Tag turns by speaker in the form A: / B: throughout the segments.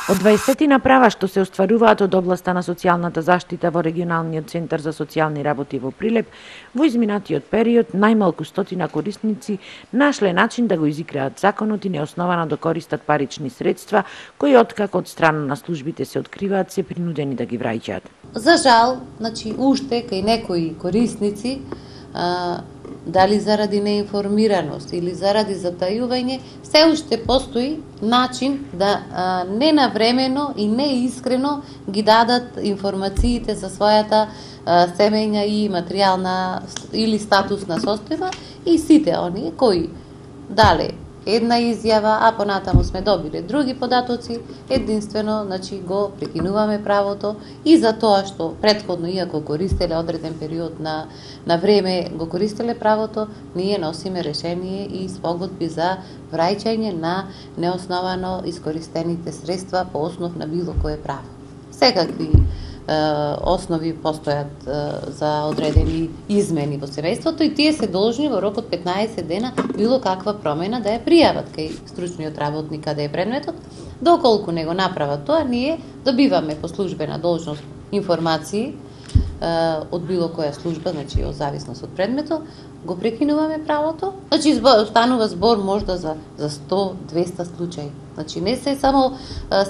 A: Од 20 права што се остваруваат од областа на социјалната заштита во регионалниот центар за социјални работи во Прилеп, во изминатиот период најмалку 100 корисници нашле начин да го изиграат законот и неосновано да користат парични средства, кои откако од страна на службите се откриваат, се принудени да ги враќаат.
B: За жал, уште кај некои корисници, дали заради неинформираност или заради затајување, се уште постои начин да ненавремено и неискрено ги дадат информациите за својата семејна и материјална или статусна состојба, и сите оние кои дале една изјава, а понатаму сме добиле други податоци, единствено го прекинуваме правото и за тоа што претходно, иако користеле одреден период на време го користеле правото, ние носиме решение и спогодби за враќање на неосновано искористените средства по основ на било кое право. Секакви основи постојат за одредени измени во семејството и тие се должни во рок од 15 дена било каква промена да ја пријават кај стручниот работник каде е предметот. Доколку не го направат тоа, ние добиваме по службена должност информации од било која служба, од зависност од предметот, го прекинуваме правото. Станува збор можда за 100-200 случаи. Не се само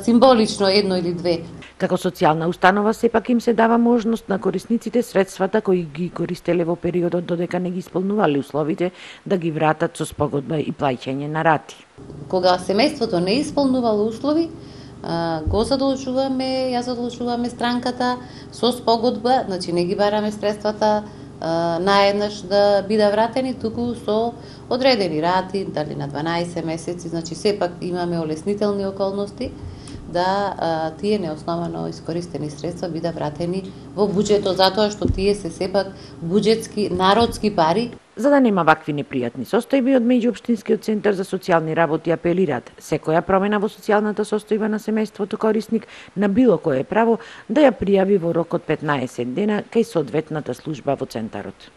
B: символично едно или две.
A: Како социјална установа сепак им се дава можност на корисниците средствата кои ги користеле во периодот додека не ги исполнувале условите да ги вратат со спогодба и плаќање на рати.
B: Кога семејството не исполнувало услови, ја задолжуваме странката со спогодба, не ги бараме средствата наеднаш да бидат вратени, туку со одредени рати, дали на 12 месеци, сепак имаме олеснителни околности да тие неосновано искористени средства бидат вратени во буџетот, затоа што тие се сепак буџетски, народски пари.
A: За да нема вакви непријатни состојби, од меѓуопштинскиот центар за социјални работи апелираат секоја промена во социјалната состојба на семејството корисник на било кое право да ја пријави во рок од 15 дена кај соодветната служба во центарот.